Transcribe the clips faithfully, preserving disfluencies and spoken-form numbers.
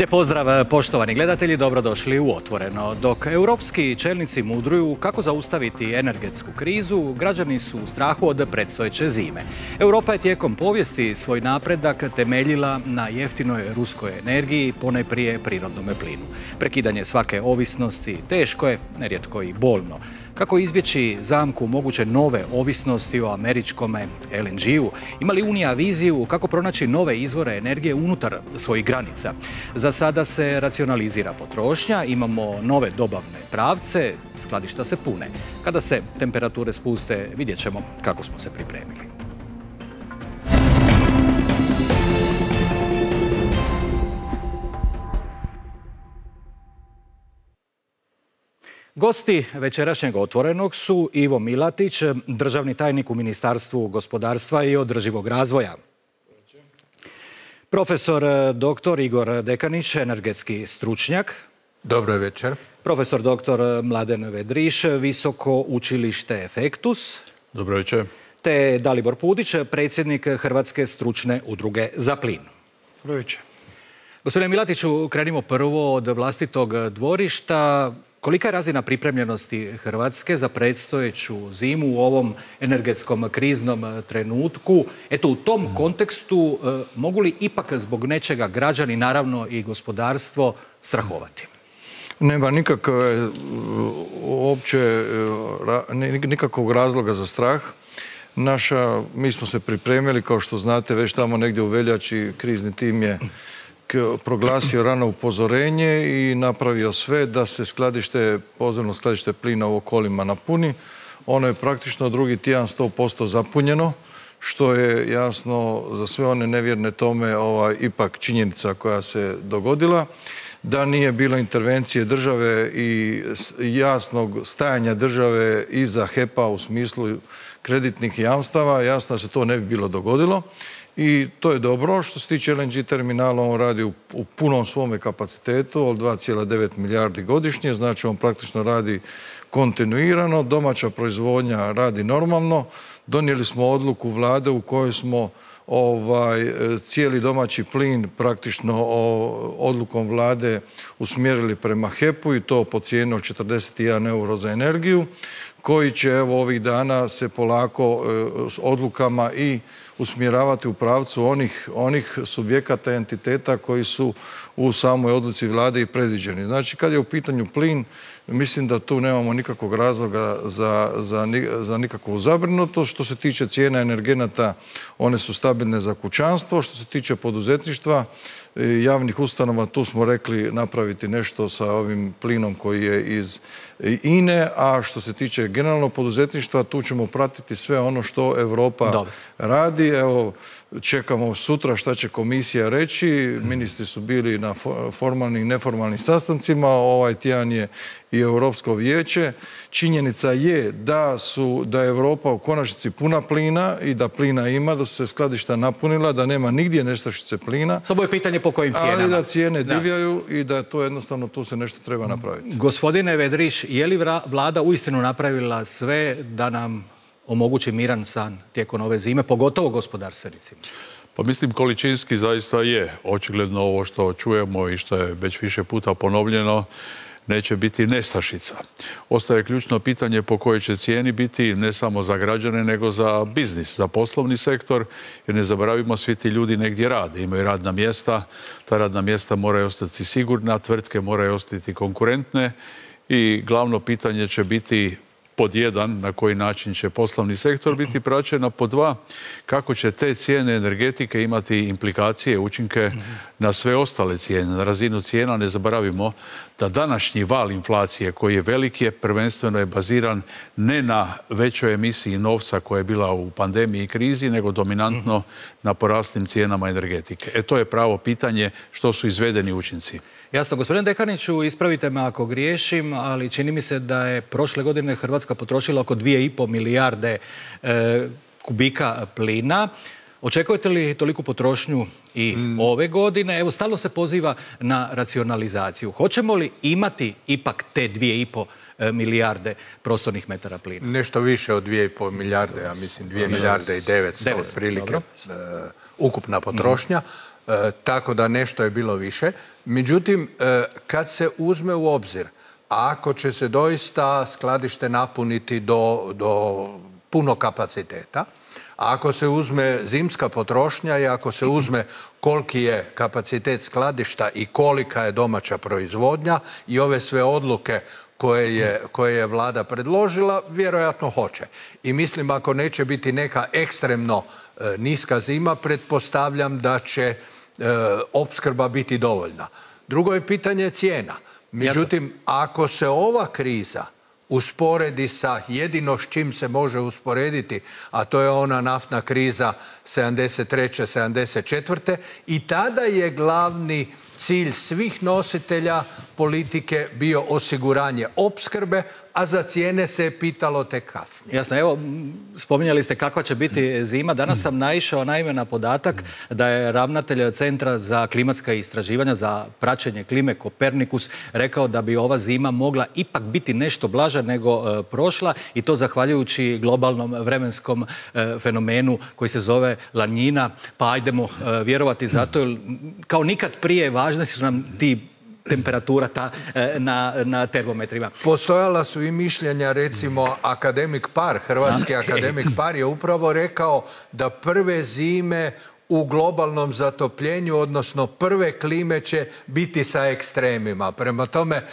Lijep pozdrav poštovani gledatelji, dobrodošli u Otvoreno. Dok europski čelnici mudruju kako zaustaviti energetsku krizu, građani su u strahu od predstojeće zime. Europa je tijekom povijesti svoj napredak temeljila na jeftinoj ruskoj energiji, ponajprije prirodnome plinu. Prekidanje svake ovisnosti teško je, nerijetko i bolno. Kako izbjeći zamku moguće nove ovisnosti o američkom L N G-u? Ima li Unija viziju kako pronaći nove izvore energije unutar svojih granica? Za sada se racionalizira potrošnja, imamo nove dobavne pravce, skladišta se pune. Kada se temperature spuste, vidjet ćemo kako smo se pripremili. Gosti večerašnjeg Otvorenog su Ivo Milatić, državni tajnik u Ministarstvu gospodarstva i održivog razvoja. Profesor doktor Igor Dekanić, energetski stručnjak. Dobro večer. Profesor doktor Mladen Vedriš, Visoko učilište Efektus. Dobro večer. Te Dalibor Pudić, predsjednik Hrvatske stručne udruge za plin. Dobro večer. Gospodine Milatiću, krenimo prvo od vlastitog dvorišta. Kolika je razina pripremljenosti Hrvatske za predstojeću zimu u ovom energetskom kriznom trenutku? Eto, u tom kontekstu mogu li ipak zbog nečega građani, naravno i gospodarstvo, strahovati? Nema nikakve, uopće, nikakvog razloga za strah. Naša, mi smo se pripremili, kao što znate, već tamo negdje u veljači krizni tim je proglasio rano upozorenje i napravio sve da se skladište, podzemno skladište plina u okolima napuni. Ono je praktično drugi tjedan sto posto zapunjeno, što je jasno za sve one nevjerne tome ovaj, ipak činjenica koja se dogodila. Da nije bilo intervencije države i jasnog stajanja države iza H E P-a u smislu kreditnih jamstava, jasno da se to ne bi bilo dogodilo. I to je dobro. Što se tiče L N G terminala, on radi u, u punom svome kapacitetu od dva zarez devet milijardi godišnje, znači on praktično radi kontinuirano, domaća proizvodnja radi normalno. Donijeli smo odluku vlade u kojoj smo ovaj, cijeli domaći plin praktično o, odlukom vlade usmjerili prema H E P-u i to po cijeni od četrdeset jedan euro za energiju, koji će evo ovih dana se polako e, s odlukama i usmjeravati u pravcu onih, onih subjekata i entiteta koji su u samoj odluci vlade i predviđeni. Znači, kad je u pitanju plin, mislim da tu nemamo nikakvog razloga za, za, za nikakvu zabrinutost. Što se tiče cijena energenata, one su stabilne za kućanstvo. Što se tiče poduzetništva, javnih ustanova, tu smo rekli napraviti nešto sa ovim plinom koji je iz I N E, a što se tiče generalno poduzetništva, tu ćemo pratiti sve ono što Europa Dobre. radi. Evo, čekamo sutra šta će komisija reći. Ministri su bili na formalnim i neformalnim sastancima. Ovaj tjedan je i Europsko vijeće. Činjenica je da su, da je Europa u konačnici puna plina i da plina ima, da su se skladišta napunila, da nema nigdje nestašice plina. Samo je pitanje po kojim cijenama. Ali da cijene divljaju i da to jednostavno tu se nešto treba napraviti. Gospodine Vedriš, je li vlada uistinu napravila sve da nam omogući miran san tijekom ove zime, pogotovo gospodarstvenicima? Pa mislim, količinski zaista je očigledno ovo što čujemo i što je već više puta ponovljeno, neće biti nestašica. Ostaje ključno pitanje po kojoj će cijeni biti ne samo za građane, nego za biznis, za poslovni sektor, jer ne zaboravimo, svi ti ljudi negdje rade, imaju radna mjesta, ta radna mjesta moraju ostati sigurna, tvrtke moraju ostati konkurentne i glavno pitanje će biti pod jedan, na koji način će poslovni sektor biti praćen, a pod dva, kako će te cijene energetike imati implikacije, učinke na sve ostale cijene, na razinu cijena. Ne zaboravimo da današnji val inflacije koji je veliki je, prvenstveno je baziran ne na većoj emisiji novca koja je bila u pandemiji i krizi, nego dominantno na poraslim cijenama energetike. E to je pravo pitanje što su izvedeni učinci. Jasno, gospodine Dekaniću, ispravite me ako griješim, ali čini mi se da je prošle godine Hrvatska potrošila oko dvije i pol milijarde e, kubika plina. Očekujete li toliku potrošnju i mm. ove godine? Evo, stalno se poziva na racionalizaciju. Hoćemo li imati ipak te dvije i pol milijarde prostornih metara plina? Nešto više od dvije i pol milijarde, ja mislim dvije milijarde i devetsto otprilike ukupna potrošnja. tako da nešto je bilo više. Međutim, kad se uzme u obzir, ako će se doista skladište napuniti do, do puno kapaciteta, ako se uzme zimska potrošnja i ako se uzme koliki je kapacitet skladišta i kolika je domaća proizvodnja i ove sve odluke koje je, koje je vlada predložila, vjerojatno hoće. I mislim, ako neće biti neka ekstremno e, niska zima, pretpostavljam da će e, opskrba biti dovoljna. Drugo je pitanje cijena. Međutim, ako se ova kriza usporedi sa jedino s čim se može usporediti, a to je ona naftna kriza sedamdeset treće sedamdeset četvrte i tada je glavni cilj svih nositelja politike bio osiguranje opskrbe, a za cijene se je pitalo tek kasnije. Jasno, evo, spominjali ste kakva će biti zima. Danas sam naišao naime na podatak da je ravnatelj Centra za klimatska istraživanja za praćenje klime Kopernikus rekao da bi ova zima mogla ipak biti nešto blaža nego e, prošla i to zahvaljujući globalnom vremenskom e, fenomenu koji se zove lanjina. Pa ajdemo e, vjerovati zato, jer kao nikad prije važni su nam ti temperatura ta, na, na termometrima. Postojala su i mišljenja, recimo, akademik Par, hrvatski akademik Par je upravo rekao da prve zime u globalnom zatopljenju, odnosno prve klime će biti sa ekstremima. Prema tome, e,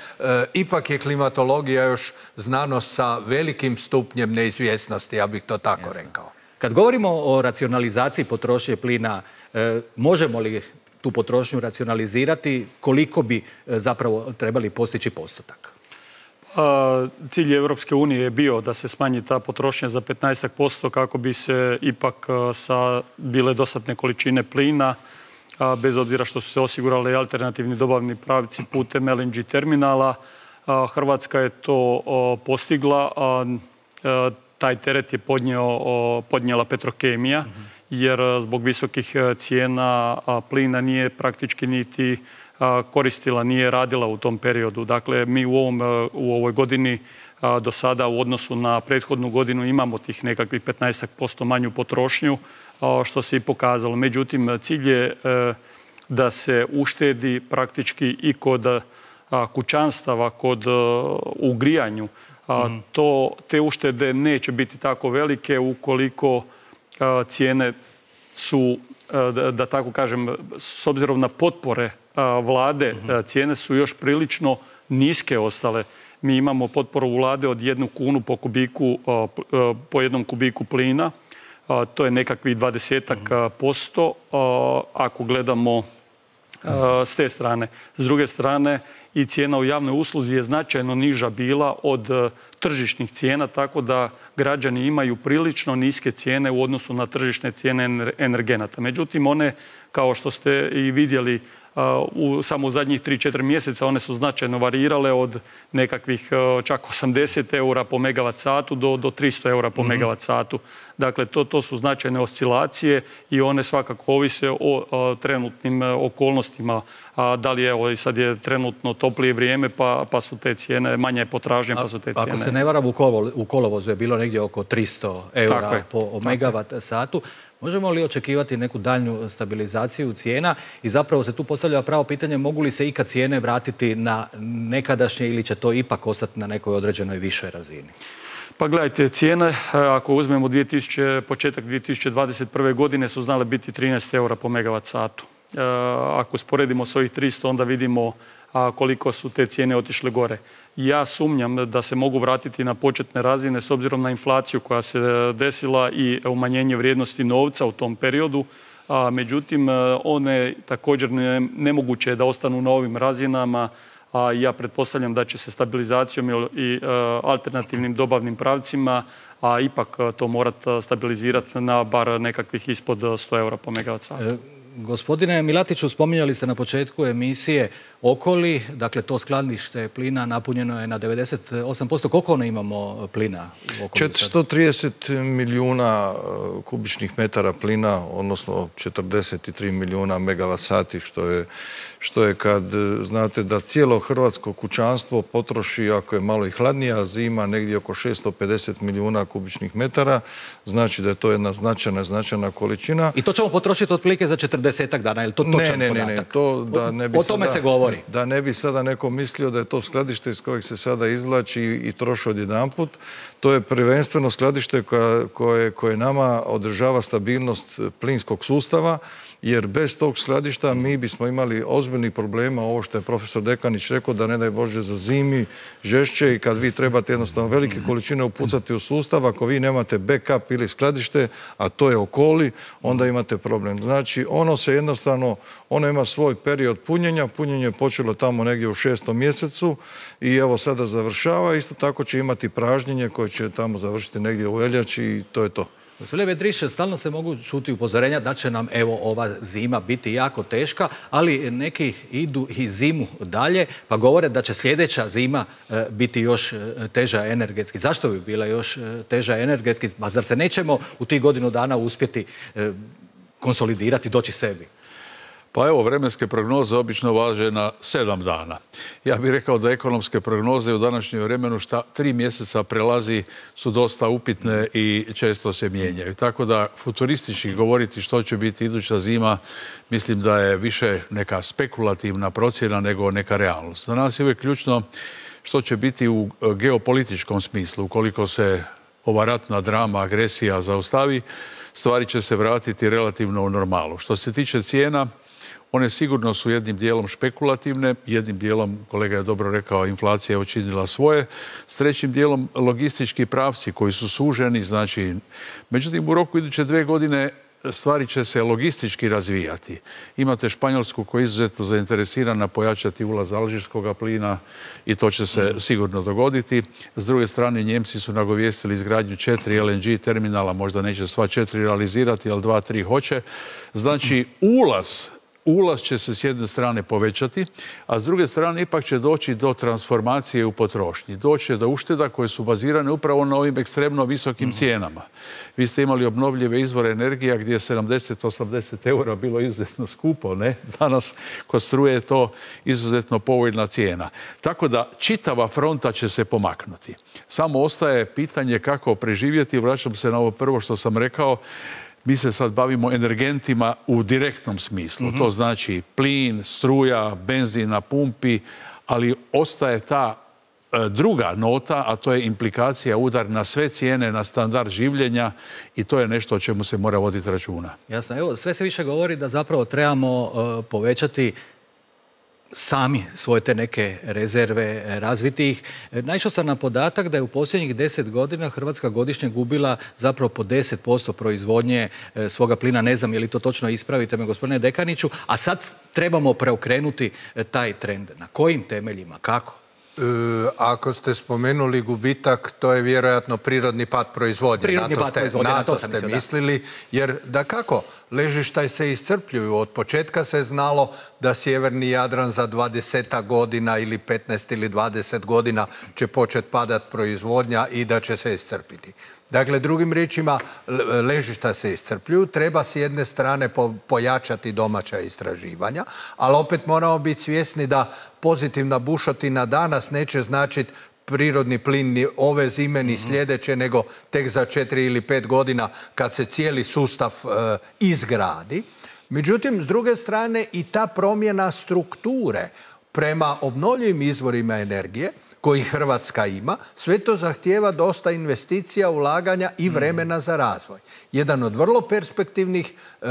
ipak je klimatologija još znanost sa velikim stupnjem neizvjesnosti, ja bih to tako Jasne. rekao. Kad govorimo o racionalizaciji potrošnje plina, e, možemo li tu potrošnju racionalizirati, koliko bi zapravo trebali postići postotak? Cilj Europske unije je bio da se smanji ta potrošnja za petnaest posto kako bi se ipak sa bile dostatne količine plina, bez obzira što su se osigurali alternativni dobavni pravci putem L N G terminala. Hrvatska je to postigla. Taj teret je podnio, podnijela Petrokemija, jer zbog visokih cijena plina nije praktički niti koristila, nije radila u tom periodu. Dakle, mi u, ovom, u ovoj godini do sada u odnosu na prethodnu godinu imamo tih nekakvih petnaest posto manju potrošnju, što se i pokazalo. Međutim, cilj je da se uštedi praktički i kod kućanstava, kod u grijanju. To, te uštede neće biti tako velike ukoliko cijene su, da tako kažem, s obzirom na potpore vlade, cijene su još prilično niske ostale. Mi imamo potporu vlade od jednu kunu po kubiku, po jednom kubiku plina. To je nekakvih dvadesetak posto ako gledamo s te strane. S druge strane, i cijena u javnoj usluzi je značajno niža bila od tržišnih cijena, tako da građani imaju prilično niske cijene u odnosu na tržišne cijene energenata. Međutim, one, kao što ste i vidjeli, u, samo u zadnjih tri četiri mjeseca one su značajno varirale od nekakvih čak osamdeset eura po megavat satu do, do tristo eura po mm-hmm. megavat satu. Dakle, to, to su značajne oscilacije i one svakako ovise o, o trenutnim okolnostima. A, da li evo, sad je trenutno toplije vrijeme pa, pa su te cijene, manja je potražnja pa su te cijene. Ako se ne varam, u, kolo, u kolovozu je bilo negdje oko tristo eura po megavat satu. Možemo li očekivati neku daljnju stabilizaciju cijena i zapravo se tu postavlja pravo pitanje mogu li se ikad cijene vratiti na nekadašnje ili će to ipak ostati na nekoj određenoj višoj razini? Pa gledajte, cijene, ako uzmemo dvije tisuće, početak dvije tisuće dvadeset prve godine su znale biti trinaest eura po megavat satu. Ako sporedimo s ovih tristo, onda vidimo koliko su te cijene otišle gore. Ja sumnjam da se mogu vratiti na početne razine s obzirom na inflaciju koja se desila i umanjenje vrijednosti novca u tom periodu. A, međutim, one također ne, nemoguće je da ostanu na ovim razinama, a ja pretpostavljam da će se stabilizacijom i a, alternativnim dobavnim pravcima, a ipak to morati stabilizirati na bar nekakvih ispod sto eura po megavat satu. Gospodine Milatiću, spominjali ste na početku emisije Okoli, dakle to skladište plina napunjeno je na devedeset osam posto. Koliko ono imamo plina u Okoli? četiristo trideset milijuna kubičnih metara plina, odnosno četrdeset tri milijuna megavat sati, što je, što je kad znate da cijelo hrvatsko kućanstvo potroši, ako je malo i hladnija zima, negdje oko šesto pedeset milijuna kubičnih metara, znači da je to jedna značajna, značajna količina. I to ćemo potrošiti otprilike za četrdesetak dana, je li to točan ne, ne, podatak? Ne, ne, to da ne bi o tome sada, se govori. Da ne bi sada neko mislio da je to skladište iz kojeg se sada izvlači i troši odjedanput. To je prvenstveno skladište koje, koje, koje nama održava stabilnost plinskog sustava, jer bez tog skladišta mi bismo imali ozbiljnih problema, ovo što je profesor Dekanić rekao, da ne daj Bože za zimi žešće i kad vi trebate jednostavno velike količine upucati u sustav, ako vi nemate backup ili skladište, a to je Okoli, onda imate problem. Znači, ono se jednostavno, ono ima svoj period punjenja, punjenje je počelo tamo negdje u šestom mjesecu i evo sada završava, isto tako će imati pražnjenje koje će tamo završiti negdje u veljači i to je to. Gospodine Vedriš, stalno se mogu čuti upozorenja da će nam evo ova zima biti jako teška, ali neki idu i zimu dalje pa govore da će sljedeća zima e, biti još teža energetski. Zašto bi bila još teža energetski? Pa zar se nećemo u tih godinu dana uspjeti e, konsolidirati, doći sebi? Pa evo, vremenske prognoze obično važe na sedam dana. Ja bih rekao da ekonomske prognoze u današnjem vremenu šta tri mjeseca prelazi su dosta upitne i često se mijenjaju. Tako da futuristički govoriti što će biti iduća zima, mislim da je više neka spekulativna procjena nego neka realnost. Za nas je uvijek ključno što će biti u geopolitičkom smislu. Ukoliko se ova ratna drama, agresija zaustavi, stvari će se vratiti relativno u normalu. Što se tiče cijena, one sigurno su jednim dijelom špekulativne, jednim dijelom, kolega je dobro rekao, inflacija je učinila svoje, s trećim dijelom logistički pravci koji su suženi, znači, međutim u roku iduće dve godine stvari će se logistički razvijati. Imate Španjolsku koja je izuzetno zainteresirana pojačati ulaz alžirskog plina i to će se sigurno dogoditi. S druge strane, Njemci su nagovijestili izgradnju četiri L N G terminala, možda neće sva četiri realizirati, ali dva, tri hoće. Znači, ulaz Ulaz će se s jedne strane povećati, a s druge strane ipak će doći do transformacije u potrošnji. Doći do ušteda koje su bazirane upravo na ovim ekstremno visokim cijenama. Vi ste imali obnovljive izvore energija gdje je sedamdeset osamdeset eura bilo izuzetno skupo, ne? Danas kod struje je to izuzetno povoljna cijena. Tako da čitava fronta će se pomaknuti. Samo ostaje pitanje kako preživjeti. Vraćam se na ovo prvo što sam rekao. Mi se sad bavimo energentima u direktnom smislu. Mm-hmm. To znači plin, struja, benzin na pumpi, ali ostaje ta e, druga nota, a to je implikacija, udar na sve cijene, na standard življenja i to je nešto o čemu se mora voditi računa. Jasno. Evo, sve se više govori da zapravo trebamo uh, povećati sami svoje te neke rezerve, razviti ih. Naišao sam na podatak da je u posljednjih deset godina Hrvatska godišnje gubila zapravo po deset posto proizvodnje svoga plina. Ne znam je li to točno, ispravite me gospodine Dekaniću. A sad trebamo preokrenuti taj trend. Na kojim temeljima? Kako? E, ako ste spomenuli gubitak, to je vjerojatno prirodni pad proizvodnje. Prirodni pad proizvodnje, na to sam ste mislio, mislili, da. Jer da kako? Ležišta se iscrpljuju. Od početka se znalo da sjeverni Jadran za dvadeset godina ili petnaest ili dvadeset godina će početi padati proizvodnja i da će se iscrpiti. Dakle, drugim riječima, ležišta se iscrpljuju, treba s jedne strane pojačati domaća istraživanja, ali opet moramo biti svjesni da pozitivna bušotina danas neće značiti prirodni plin ni ove zime ni sljedeće, nego tek za četiri ili pet godina kad se cijeli sustav e, izgradi. Međutim, s druge strane i ta promjena strukture prema obnovljivim izvorima energije koji Hrvatska ima, sve to zahtijeva dosta investicija, ulaganja i vremena za razvoj. Jedan od vrlo perspektivnih e,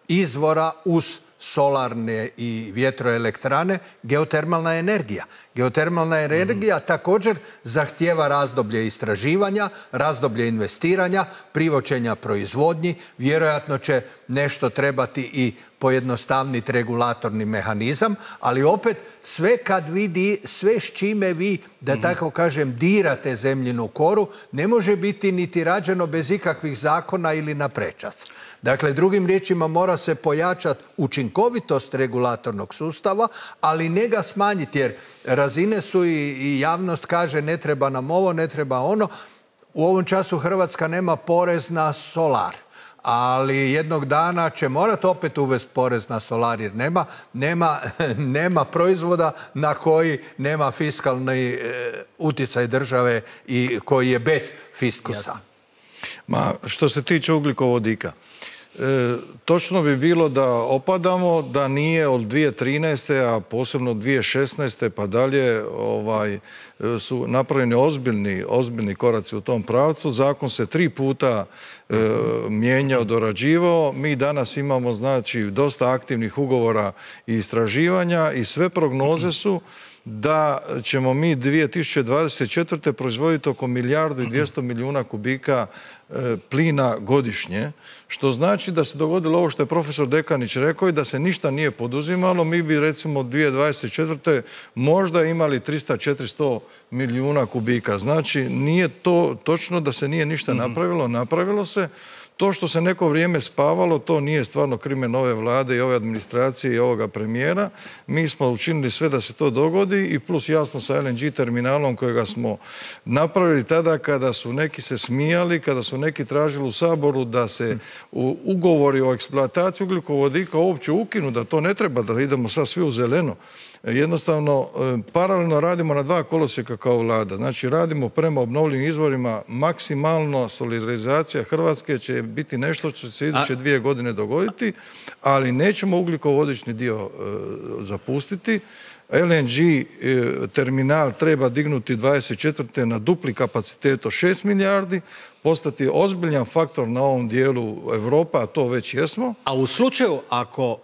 izvora uz solarne i vjetroelektrane, geotermalna energija. Geotermalna energija također zahtijeva razdoblje istraživanja, razdoblje investiranja, privoćenja proizvodnji. Vjerojatno će nešto trebati i pojednostavniti regulatorni mehanizam, ali opet sve kad vidi, sve s čime vi, da tako kažem, dirate zemljinu koru, ne može biti niti rađeno bez ikakvih zakona ili na prečac. Dakle, drugim riječima mora se pojačati učinkovitost regulatornog sustava, ali ne ga smanjiti, jer razine su i, i javnost kaže ne treba nam ovo, ne treba ono. U ovom času Hrvatska nema porez na solar, ali jednog dana će morati opet uvesti porez na solar, jer nema, nema, nema proizvoda na koji nema fiskalni e, utjecaj države i koji je bez fiskusa. Ma, što se tiče ugljikovodika, E, točno bi bilo da opadamo, da nije od dvije tisuće trinaeste. a posebno od dvije tisuće šesnaeste. pa dalje ovaj, su napravljeni ozbiljni, ozbiljni koraci u tom pravcu. Zakon se tri puta e, mijenjao, dorađivao. Mi danas imamo znači dosta aktivnih ugovora i istraživanja i sve prognoze su da ćemo mi dvije tisuće dvadeset četvrte. proizvoditi oko milijardu i dvjesto milijuna kubika e, plina godišnje, što znači da se dogodilo ovo što je profesor Dekanić rekao i da se ništa nije poduzimalo. Mi bi recimo dvije tisuće dvadeset četvrte. možda imali tristo do četiristo milijuna kubika. Znači nije to točno da se nije ništa napravilo, napravilo se. To što se neko vrijeme spavalo, to nije stvarno krimen ove vlade i ove administracije i ovoga premijera. Mi smo učinili sve da se to dogodi i plus jasno sa L N G terminalom kojega smo napravili tada kada su neki se smijali, kada su neki tražili u Saboru da se u ugovori o eksploataciji ugljikovodika uopće ukinu, da to ne treba, da idemo sad svi u zeleno. Jednostavno, paralelno radimo na dva kolosijeka kao vlada. Znači, radimo prema obnovljivim izvorima, maksimalno solidarizacija Hrvatske će biti nešto što će se iduće dvije godine dogoditi, ali nećemo ugljikovodični dio e, zapustiti. L N G e, terminal treba dignuti dvadeset četvrte. na dupli kapacitet od šest milijardi, postati ozbiljan faktor na ovom dijelu Evropa, a to već jesmo. A u slučaju ako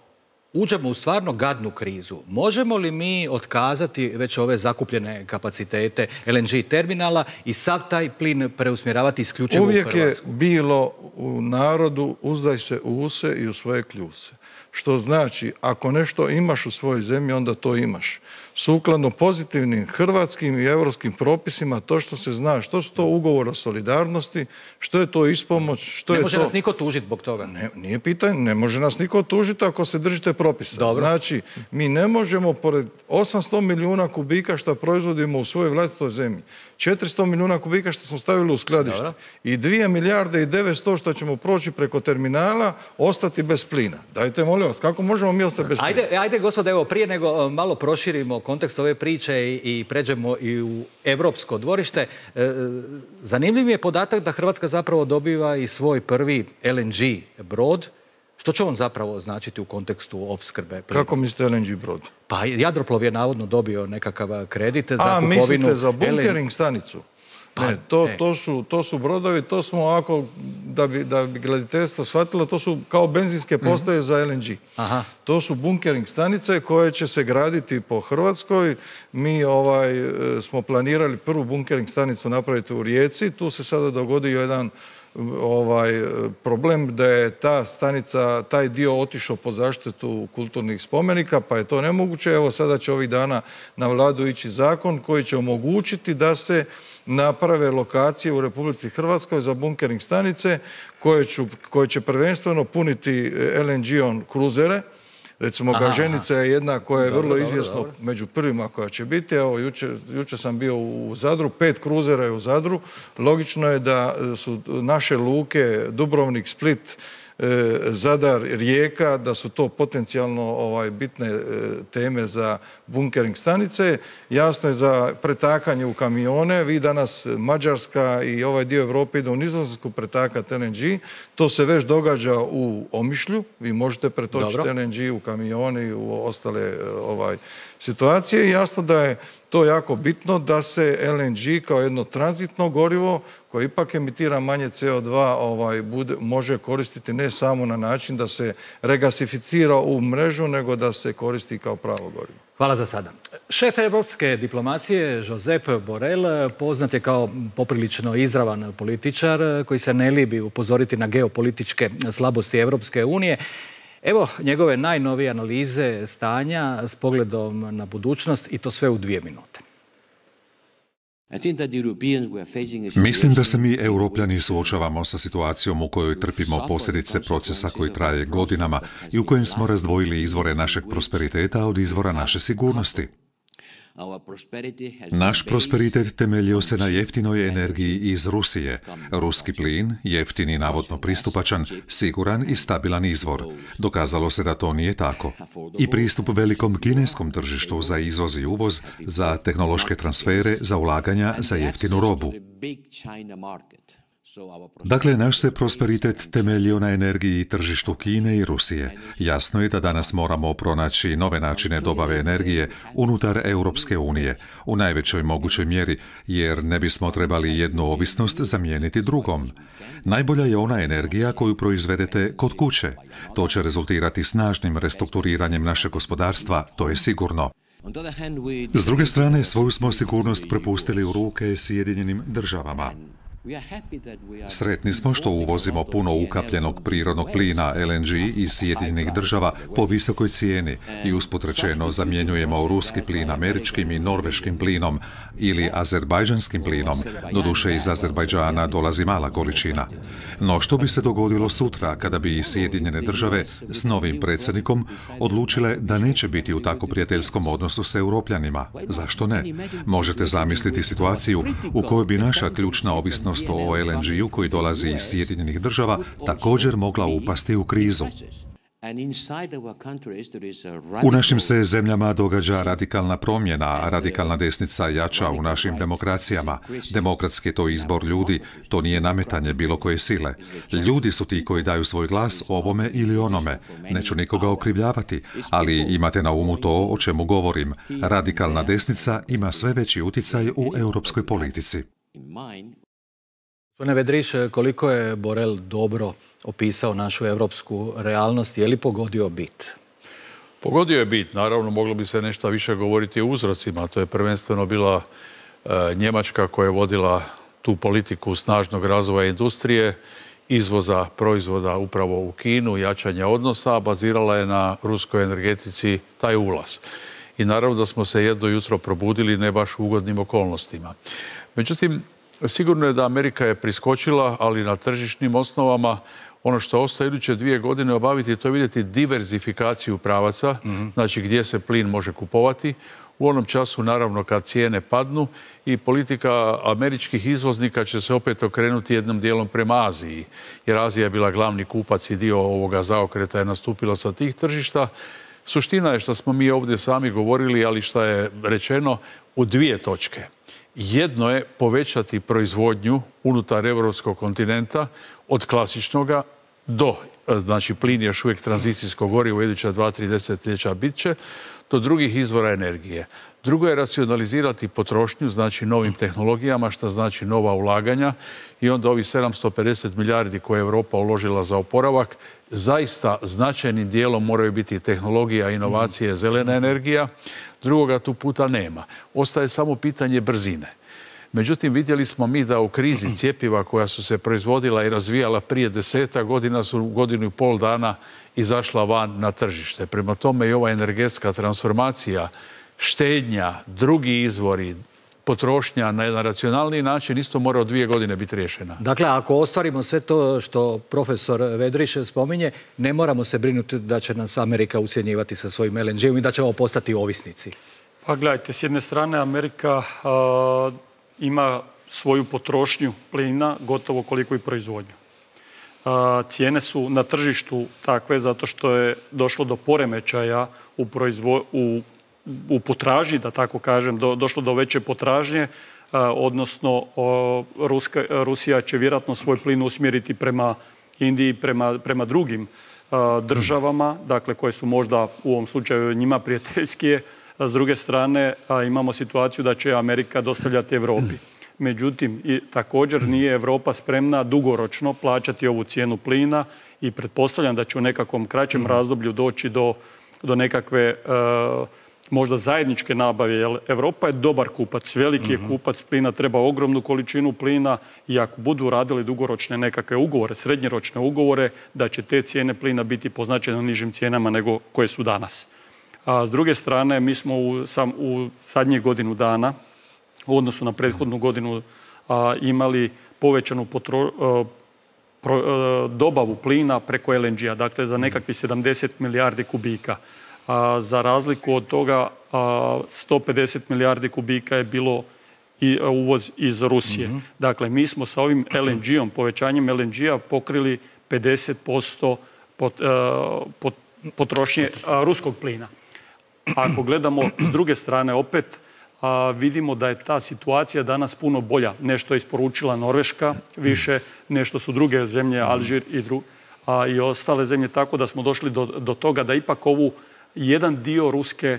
uđemo u stvarno gadnu krizu, možemo li mi otkazati već ove zakupljene kapacitete L N G terminala i sav taj plin preusmjeravati isključivo u Hrvatsku? Uvijek je bilo u narodu uzdaj se u use i u svoje kljuse. Što znači, ako nešto imaš u svojoj zemlji, onda to imaš. Sukladno pozitivnim hrvatskim i europskim propisima, to što se zna, što su to ugovor o solidarnosti, što je to ispomoć, što je to... Ne može nas niko tužiti zbog toga? Ne, nije pitanje, ne može nas niko tužiti ako se držite propisa. Dobro. Znači, mi ne možemo pored osamsto milijuna kubika što proizvodimo u svojoj vlastitoj zemlji, četiristo milijuna kubika što smo stavili u skladište. Dobro. I dvije milijarde i devetsto što ćemo proći preko terminala, ostati bez plina. Dajte, molim vas, kako možemo mi ostati bez plina? Ajde, ajde gospode, evo, prije nego malo proširimo kontekst ove priče i, i pređemo i u evropsko dvorište. E, zanimljiv je podatak da Hrvatska zapravo dobiva i svoj prvi L N G brod. Što će on zapravo značiti u kontekstu opskrbe plina? Kako mislite L N G brod? Pa Jadroplov je navodno dobio nekakav kredit za A, kupovinu... A, mislite za bunkering stanicu? Pa, ne, to, ne. To, su, to su brodovi, to smo ovako, da bi, da bi gledateljstvo shvatilo, to su kao benzinske postaje mm-hmm. za L N G. Aha. To su bunkering stanice koje će se graditi po Hrvatskoj. Mi ovaj, smo planirali prvu bunkering stanicu napraviti u Rijeci. Tu se sada dogodio jedan ovaj problem da je ta stanica, taj dio otišao po zaštitu kulturnih spomenika, pa je to nemoguće. Evo sada će ovih dana na vladu ići zakon koji će omogućiti da se naprave lokacije u Republici Hrvatskoj za bunkering stanice koje, ću, koje će prvenstveno puniti L N G-om kruzere. Recimo, aha, Gaženica je jedna koja je dobro, vrlo izvjesno dobro, dobro. među prvima koja će biti. Evo, jučer, jučer sam bio u Zadru, pet kruzera je u Zadru. Logično je da su naše luke Dubrovnik, Split, Zadar, Rijeka, da su to potencijalno ovaj, bitne teme za bunkering stanice. Jasno je za pretakanje u kamione. Vi danas Mađarska i ovaj dio Evrope ide u Nizozemsku pretakati L N G. To se već događa u Omišlju. Vi možete pretočiti Dobro. L N G u kamione i u ostale ovaj, situacije. I jasno da je to jako bitno da se L N G kao jedno tranzitno gorivo koje ipak emitira manje C O dva ovaj, bude, može koristiti ne samo na način da se regasificira u mrežu, nego da se koristi kao pravo gorivo. Hvala za sada. Šef evropske diplomacije Josep Borrell poznat je kao poprilično izravan političar koji se ne libi upozoriti na geopolitičke slabosti Evropske unije. Evo njegove najnovije analize stanja s pogledom na budućnost i to sve u dvije minute. Mislim da se mi, Europljani, suočavamo sa situacijom u kojoj trpimo posljedice procesa koji traje godinama i u kojem smo razdvojili izvore našeg prosperiteta od izvora naše sigurnosti. Naš prosperitet temeljio se na jeftinoj energiji iz Rusije. Ruski plin, jeftin i navodno pristupačan, siguran i stabilan izvor. Dokazalo se da to nije tako. I pristup velikom kineskom tržištu za izvoz i uvoz, za tehnološke transfere, za ulaganja, za jeftinu robu. Dakle, naš se prosperitet temeljio na energiji i tržištu Kine i Rusije. Jasno je da danas moramo pronaći nove načine dobave energije unutar Europske unije, u najvećoj mogućoj mjeri, jer ne bismo trebali jednu ovisnost zamijeniti drugom. Najbolja je ona energija koju proizvedete kod kuće. To će rezultirati snažnim restrukturiranjem našeg gospodarstva, to je sigurno. S druge strane, svoju smo sigurnost prepustili u ruke Sjedinjenim državama. Sretni smo što uvozimo puno ukapljenog prirodnog plina L N G iz Sjedinjenih država po visokoj cijeni i usput rečeno zamjenjujemo ruski plin američkim i norveškim plinom ili azerbajdžanskim plinom, doduše iz Azerbajdžana dolazi mala količina. No što bi se dogodilo sutra kada bi i Sjedinjene države s novim predsjednikom odlučile da neće biti u tako prijateljskom odnosu s Europljanima? Zašto ne? Možete zamisliti situaciju u kojoj bi naša ključna ovisnost o L N G-u koji dolazi iz Sjedinjenih država također mogla upasti u krizu. U našim se zemljama događa radikalna promjena, a radikalna desnica jača u našim demokracijama. Demokratski je to izbor ljudi, to nije nametanje bilo koje sile. Ljudi su ti koji daju svoj glas ovome ili onome. Neću nikoga okrivljavati, ali imate na umu to o čemu govorim. Radikalna desnica ima sve veći utjecaj u europskoj politici. Gospodine Vedriš, koliko je Borel dobro opisao našu europsku realnost, je li pogodio bit? Pogodio je bit, naravno moglo bi se nešto više govoriti o uzrocima. To je prvenstveno bila e, Njemačka koja je vodila tu politiku snažnog razvoja industrije, izvoza proizvoda upravo u Kinu, jačanja odnosa, bazirala je na ruskoj energetici taj ulaz. I naravno da smo se jedno jutro probudili ne baš u ugodnim okolnostima. Međutim, sigurno je da Amerika je priskočila, ali na tržišnim osnovama. Ono što ostaje iduće dvije godine obaviti, to je vidjeti diverzifikaciju pravaca, mm-hmm. znači gdje se plin može kupovati. U onom času, naravno, kad cijene padnu i politika američkih izvoznika će se opet okrenuti jednom dijelom prema Aziji. Jer Azija je bila glavni kupac i dio ovoga zaokreta je nastupilo sa tih tržišta. Suština je što smo mi ovdje sami govorili, ali što je rečeno u dvije točke. Jedno je povećati proizvodnju unutar europskog kontinenta od klasičnoga do, znači plin je još uvijek tranzicijsko gorivo, iduća dva, tri desetljeća bit će, do drugih izvora energije. Drugo je racionalizirati potrošnju, znači novim tehnologijama, što znači nova ulaganja i onda ovih sedamsto pedeset milijardi koje je Europa uložila za oporavak, zaista značajnim dijelom moraju biti tehnologija, inovacije, zelena energija. Drugoga tu puta nema. Ostaje samo pitanje brzine. Međutim, vidjeli smo mi da u krizi cjepiva koja su se proizvodila i razvijala prije deseta godina su u godinu i pol dana izašla van na tržište. Prema tome i ova energetska transformacija, štednja, drugi izvori, potrošnja na jedan racionalniji način isto mora od dvije godine biti riješena. Dakle, ako ostvarimo sve to što profesor Vedriš spominje, ne moramo se brinuti da će nas Amerika ucjenjivati sa svojim L N G-om i da ćemo postati ovisnici. Pa gledajte, s jedne strane Amerika a, ima svoju potrošnju plina gotovo koliko i proizvodnju. A, cijene su na tržištu takve zato što je došlo do poremećaja u, proizvo, u u potražnji, da tako kažem, do, došlo do veće potražnje, a, odnosno o, Ruska, Rusija će vjerojatno svoj plin usmjeriti prema Indiji, prema, prema drugim a, državama, dakle koje su možda u ovom slučaju njima prijateljskije. A s druge strane a, imamo situaciju da će Amerika dostavljati Europi. Međutim, i, također nije Europa spremna dugoročno plaćati ovu cijenu plina i pretpostavljam da će u nekakvom kraćem razdoblju doći do, do nekakve a, možda zajedničke nabave, jer Europa je dobar kupac, veliki je kupac plina, treba ogromnu količinu plina i ako budu radili dugoročne nekakve ugovore, srednjeročne ugovore, da će te cijene plina biti po značajno nižim cijenama nego koje su danas. A s druge strane, mi smo u, sam, u zadnjih godinu dana, u odnosu na prethodnu godinu, a, imali povećanu potro, a, pro, a, dobavu plina preko el en ge a, dakle za nekakvih sedamdeset milijardi kubika. A, za razliku od toga, a, sto pedeset milijardi kubika je bilo i a, uvoz iz Rusije. Mm-hmm. Dakle, mi smo sa ovim el en ge om, povećanjem el en ge a pokrili pedeset posto pot, a, pot, potrošnje a, ruskog plina. Ako gledamo s druge strane opet, a, vidimo da je ta situacija danas puno bolja. Nešto je isporučila Norveška više, nešto su druge zemlje, Alžir i, dru, a, i ostale zemlje, tako da smo došli do, do toga da ipak ovu jedan dio ruske,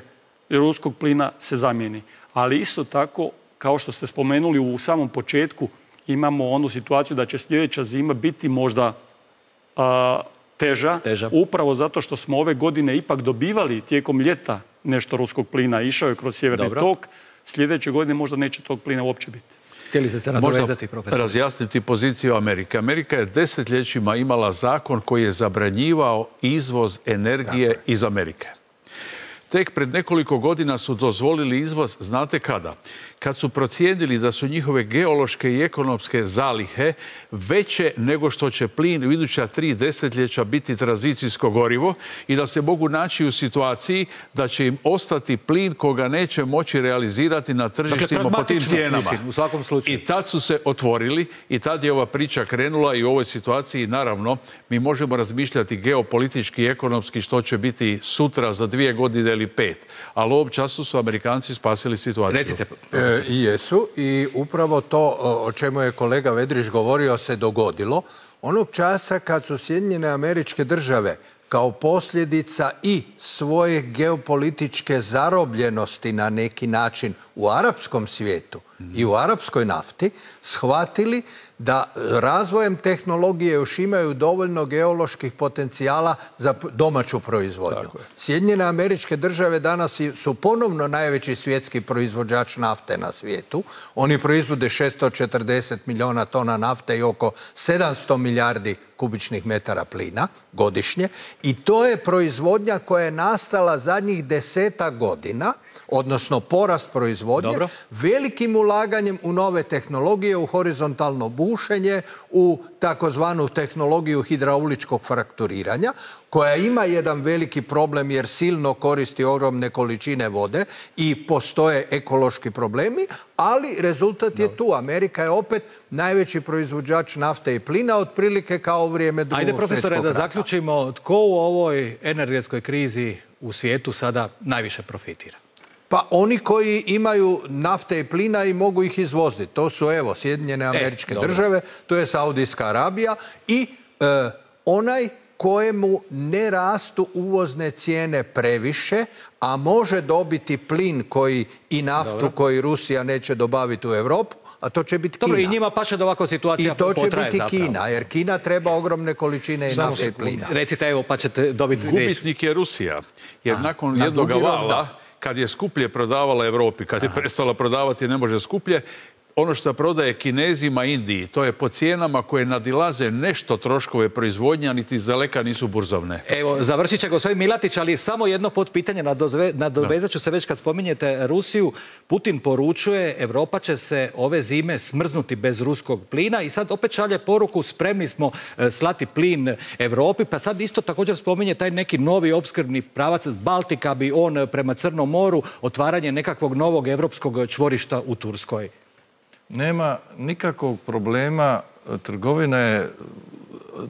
ruskog plina se zamijeni. Ali isto tako, kao što ste spomenuli u samom početku, imamo onu situaciju da će sljedeća zima biti možda a, teža, teža, upravo zato što smo ove godine ipak dobivali tijekom ljeta nešto ruskog plina. Išao je kroz sjeverni Dobro. tok. Sljedeće godine možda neće tog plina uopće biti. Htjeli ste se nadovezati, profesor? Razjasniti poziciju Amerike. Amerika je desetljećima imala zakon koji je zabranjivao izvoz energije Tako. iz Amerike. Tek pred nekoliko godina su dozvolili izvoz, znate kada? Kad su procijenili da su njihove geološke i ekonomske zalihe veće nego što će plin u iduća tri desetljeća biti tranzicijsko gorivo i da se mogu naći u situaciji da će im ostati plin koga neće moći realizirati na tržištima dakle, po tim cijenama. Mislim, u svakom slučaju. I tad su se otvorili i tad je ova priča krenula i u ovoj situaciji naravno mi možemo razmišljati geopolitički i ekonomski što će biti sutra za dvije godine ili pet. Ali u ovom času su Amerikanci spasili situaciju. Recite, E, I jesu i upravo to o čemu je kolega Vedrić govorio se dogodilo. Onog časa kad su Sjedinjene Američke Države kao posljedica i svoje geopolitičke zarobljenosti na neki način u arapskom svijetu mm. i u arapskoj nafti shvatili da razvojem tehnologije još imaju dovoljno geoloških potencijala za domaću proizvodnju. Sjedinjene Američke Države danas su ponovno najveći svjetski proizvođač nafte na svijetu. Oni proizvode šesto četrdeset milijuna tona nafte i oko sedamsto milijardi kubičnih metara plina godišnje. I to je proizvodnja koja je nastala zadnjih desetak godina, odnosno porast proizvodnje, Dobro. velikim ulaganjem u nove tehnologije, u horizontalno bušenje, u takozvanu tehnologiju hidrauličkog frakturiranja, koja ima jedan veliki problem jer silno koristi ogromne količine vode i postoje ekološki problemi, ali rezultat je tu. Amerika je opet najveći proizvođač nafte i plina, otprilike kao u vrijeme Drugog svjetskog rata. Ajde, profesore, da zaključimo, tko u ovoj energetskoj krizi u svijetu sada najviše profitira? Pa oni koji imaju nafte i plina i mogu ih izvoziti. To su, evo, Sjedinjene Američke e, Države, to je Saudijska Arabija i e, onaj kojemu ne rastu uvozne cijene previše, a može dobiti plin koji i naftu Dobro. koji Rusija neće dobaviti u Europu, a to će biti Dobro, Kina. I njima paše da ovakva situacija potraje zapravo. I to će biti zapravo. Kina, jer Kina treba ogromne količine i nafte i plina. Recite, evo, pa ćete dobiti... Gubitnik je Rusija, jer a, nakon na jednog vala, kad je skuplje prodavala Europi, kad je Aha. prestala prodavati ne može skuplje, ono što prodaje Kinezima Indiji, to je po cijenama koje nadilaze nešto troškove proizvodnja, niti izdaleka nisu burzovne. Evo, završit će gospodin Milatić, ali samo jedno potpitanje, nadovezat ću se već kad spominjete Rusiju. Putin poručuje, Europa će se ove zime smrznuti bez ruskog plina i sad opet šalje poruku, spremni smo slati plin Europi, pa sad isto također spominje taj neki novi opskrbni pravac Baltika, bi on prema Crnom moru, otvaranje nekakvog novog europskog čvorišta u Turskoj. Nema nikakvog problema, trgovina je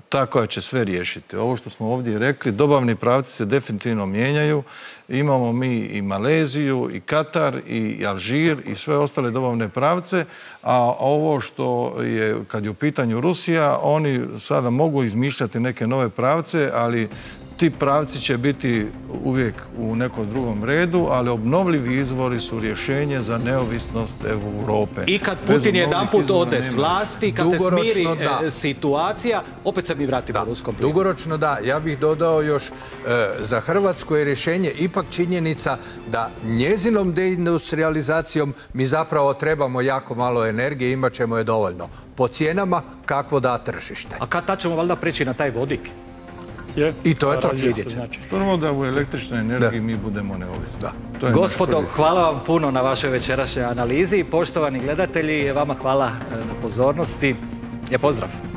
ta koja će sve riješiti. Ovo što smo ovdje rekli, dobavni pravci se definitivno mijenjaju. Imamo mi i Maleziju, i Katar, i Alžir, i sve ostale dobavne pravce, a ovo što je, kad je u pitanju Rusija, oni sada mogu izmišljati neke nove pravce, ali ti pravci će biti uvijek u nekom drugom redu, ali obnovljivi izvori su rješenje za neovisnost Europe. I kad Putin jedanput ode s vlasti, kad se smiri e, situacija, opet se mi vratimo u ruskom plinu. Dugoročno da. Ja bih dodao još e, za Hrvatsku je rješenje ipak činjenica da njezinom deindustrializacijom mi zapravo trebamo jako malo energije, imat ćemo je dovoljno. Po cijenama kakvo da tržište. A kad tad ćemo valjda preći na taj vodik? Je. I to je točno. Znači. Prvo da u električnoj energiji mi budemo neovisni. Da. Gospodo, hvala vam puno na vašoj večerašnjoj analizi. Poštovani gledatelji, vama hvala na pozornosti. Je pozdrav.